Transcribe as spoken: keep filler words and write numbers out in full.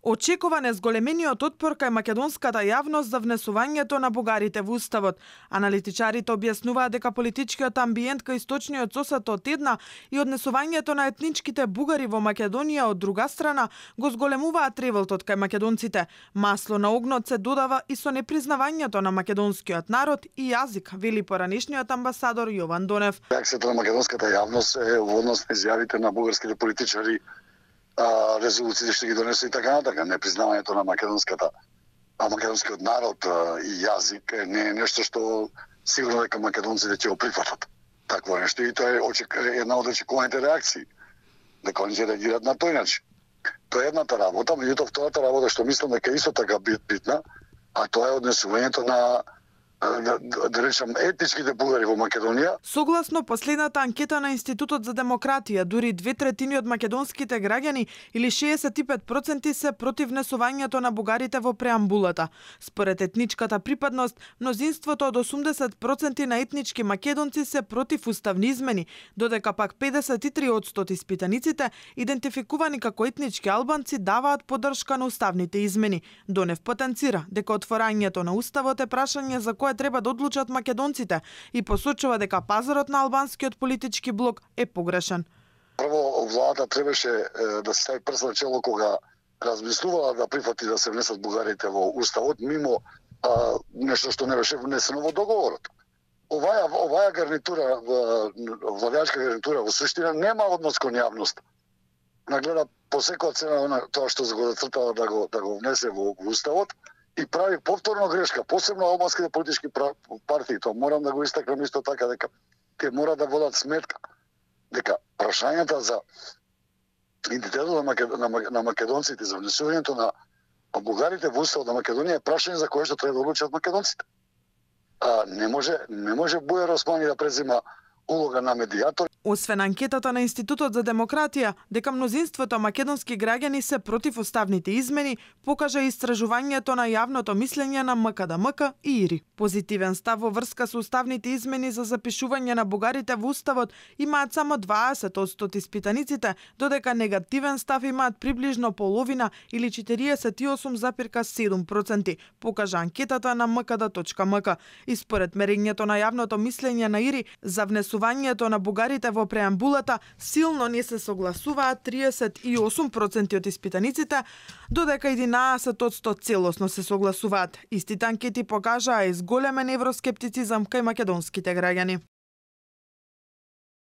Очекуван е зголемениот отпор кај македонската јавност за внесувањето на бугарите во Уставот. Аналитичарите објаснуваат дека политичкиот амбиент кај источниот сосед од една и однесувањето на етничките бугари во Македонија од друга страна го зголемуваат револтот кај македонците. Масло на огнот се додава и со непризнавањето на македонскиот народ и јазик, вели поранешниот амбасадор Јован Донев. Реакцијата на македонската јавност е во однос на изјавите на бугарските политичари, а, резолуциите што ги донесу и така натака. Непризнавањето на македонската, а македонскиот народ а, и јазик не е нешто што сигурно дека македонците ќе го прифатат. Такво нешто и тоа е очек, една од очекуваните реакции. Дека они ќе реагираат на тој начин. Тоа е едната работа, меѓутоа втората работа што мислам дека исто така битна, а тоа е однесувањето на да, да речам етничките бугари во Македонија. Согласно последната анкета на Институтот за демократија, дури две третини од македонските граѓани или шеесет и пет проценти се против внесувањето на бугарите во преамбулата. Според етничката припадност, мнозинството од осумдесет проценти на етнички македонци се против уставни измени, додека пак педесет и три одсто испитаниците, идентификувани како етнички албанци, даваат поддршка на уставните измени. Донев потенцира дека отворањето на уставот е прашање за кое треба да одлучат македонците и посочува дека пазарот на албанскиот политички блок е погрешен. Прво, владата требаше е, да се стави прст на чело кога размислувала да прифати да се внесат бугарите во уставот мимо а, нешто што не беше внесено во договорот. Оваја оваја гарнитура, владеачка гарнитура во суштина нема однос кон јавност. Нагледа по секоја цена на тоа што го зацртала да го да го внесе во, во уставот и прави повторно грешка, посебно албанските политички партии. Тоа морам да го истакнам исто така дека те мора да водат сметка дека прашањата за идентитетот на, на, на македонците, за внесувањето на бугарите во уставот на Македонија е прашање за кое што треба да одлучат македонците. А, не може не може Бујар Османи да презима улога на медијатор. Освен анкетата на Институтот за демократија, дека мнозинството македонски граѓани се против уставните измени, покажа истражувањето на јавното мислење на МКДМК и ИРИ. Позитивен став во врска со уставните измени за запишување на бугарите во уставот имаат само дваесет одсто од испитаниците, додека негативен став имаат приближно половина или четириесет и осум запирка седум проценти, покажа анкетата на ем ка д точка ем к. И според мерењето на јавното мислење на ИРИ за внесувањето на бугарите во преамбулата, силно не се согласуваат триесет и осум проценти од испитаниците, додека единаесет одсто целосно се согласуваат. Истите анкети покажаа изголемен евроскептицизам кај македонските граѓани.